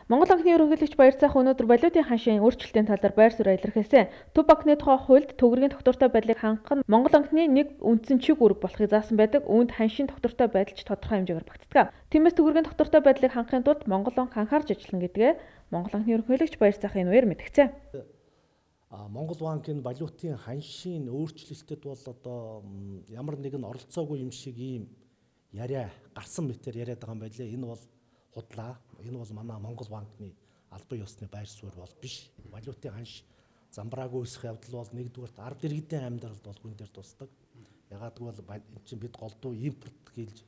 Монгол банкны ерөнхийлөгч Баярцаах өнөөдөр валютын ханшийн өөрчлөлтийн талаар байр суурь илэрхийлсэн. Төв банкны тухай хуульд төгрөгийн тогтвортой байдлыг хангах нь Монгол банкны нэг үндсэн чиг үүрэг болохыг заасан байдаг. Үүнд ханшийн тогтвортой байдал ч тодорхой хэмжээгээр багтдаг. Тиймээс төгрөгийн тогтвортой байдлыг хангахын тулд Монгол банк анхаарч ажиллана гэдгээ Монгол банкны ерөнхийлөгч Баярцаах энэ үеэр мэдгцээ. Монгол банкын валютын ханшийн өөрчлөлтөд бол одоо ямар нэгэн оролцоогүй юм шиг ийм яриа гарсан мэтэр яриад байгаа юм байлээ. Энэ бол худлаа. Энэ бол манай Монгол банкны албан ёсны байр суурь бол биш. Валютын ханш замбраагүй өсөх явдал бол нэгдүгээрт ард иргэдийн амьдралд бол гүн дээр тусдаг. Ягаад гэвэл чинь бид голдуу импорт гэлж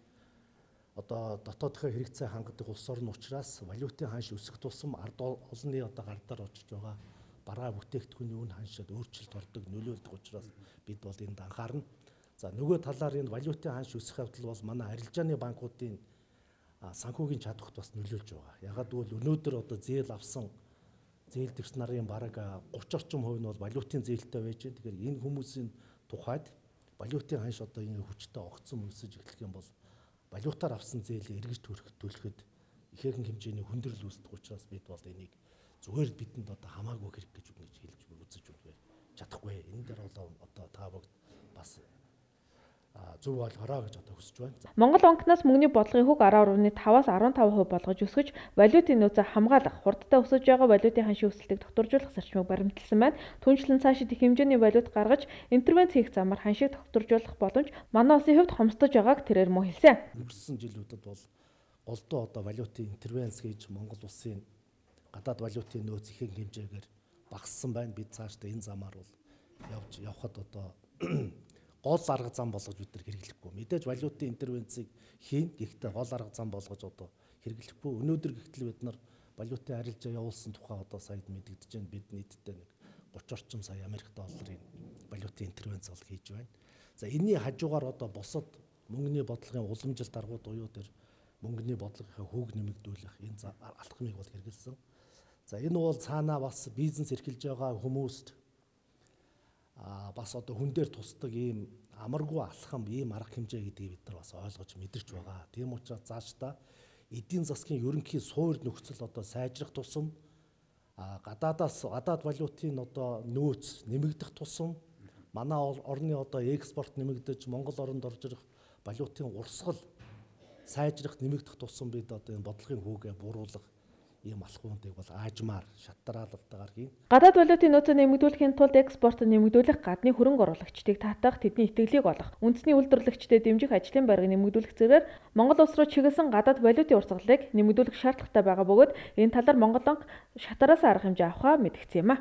одоо дотоодынхаа хэрэгцээ хангадаг улс орн учраас валютын ханш өсөх тусам ард олонний одоо гардаар очиж байгаа бараа бүтээгдэхүүний үн ханшид өөрчлөлт ордог нөлөөлдөг учраас бид бол энд анхаарна. За нөгөө талаар энэ валютын ханш өсөх явдал бол манай арилжааны банкуудын санхүүгийн чадварт бас нөлөөлж байгаа. Ягаад гэвэл өнөөдөр одоо зээл авсан зээл дэвс нарын бараг 30 орчим хувь нь бол валютын зээлтэй байж байна. Тэгэхээр энэ хүмүүсийн тухайд валютын ханш одоо ингэ хүчтэй огцсон өсөж эхлэх юм бол валютаар авсан зээлийг эргэж төлөхөд ихээхэн хэмжээний хүндрэл үүсдэг учраас бид бол энийг зүгээр бидэнд одоо хамаагүй хэрэг гэж хэлж үзэж чадахгүй. Энэ дээр бол одоо та бүгд бас зөв ойлгороо гэж одоо хүсэж байна. Монгол банкнаас мөнгөний бодлогын хөг 10.5-аас 15% болгож өсгөж, валютын нөөцөө хамгаалах, хурдтай өсөж байгаа валютын ханшийн өсөлтийг тогтворжуулах зарчмыг баримталсан байна. Түүнчлэн цаашид их хэмжээний валют гаргаж, интервенц хийх замаар ханшийг тогтворжуулах боломж манай улсын хувьд хомсдож байгааг тэрээр мөн хэлсэн. Өнгөрсөн жилүүдэд бол голдуу одоо валютын интервенц хийж Монгол улсын гадаад валютын нөөц ихэнх хэмжээгээр багассан байна. Бид цаашдаа энэ замаар бол явхад одоо гол арга зам болгож бид нар хэрэглэхгүй. Мэдээж валютын интервенцийг хийн. Гэхдээ гол арга зам болгож одоо хэрэглэхгүй. Өнөөдөр гэтэл бид нар валютын арилжаа явуулсан тухай одоо сая мэдэгдэж байна. Бид нийтдээ нэг 30 орчим сая Америк долларын валютын интервенц бол хийж байна. За энэний хажуугаар одоо бусад мөнгөний бодлогын уламжилт аргууд буюу тэр мөнгөний бодлогын хүүг нэмэгдүүлэх энэ алхмыг бол хэрэгэлсэн. За энэ бол цаанаа бас бизнес эрхэлж байгаа хүмүүст бас одоо хүн дээр тусдаг ийм амаргүй алхам, ийм арга хэмжээ гэдгийг бид нар бас ойлгож мэдэрч байгаа. Тийм учраас цаашдаа эдийн засгийн ерөнхий суур нөхцөл одоо сайжрах тусам гадаад валютын одоо нөөц нэмэгдэх тусам манай орны одоо экспорт нэмэгдэж Монгол оронд орж ирэх валютын урсгал сайжрах нэмэгдэх тусам бид одоо энэ бодлогын хүүгээ буруулах ийм алхмуудыг бол аажмаар шатраалалтайгаар хийн. Гадаад валютын нөөцөө нэмэгдүүлэхийн тулд экспортыг нэмэгдүүлэх, гадны хөрөнгө оруулагчдыг татах, тэдний итгэлийг олох, үндэсний үйлдвэрлэгчдэд дэмжих ажлын байрыг нэмэгдүүлэх зэргээр Монгол улс руу чиглэсэн гадаад валютын урсгалыг нэмэгдүүлэх шаардлагатай байгаа бөгөөд энэ талаар Монгол банк шатараас арга хэмжээ авахаа мэдгдсэн юм а.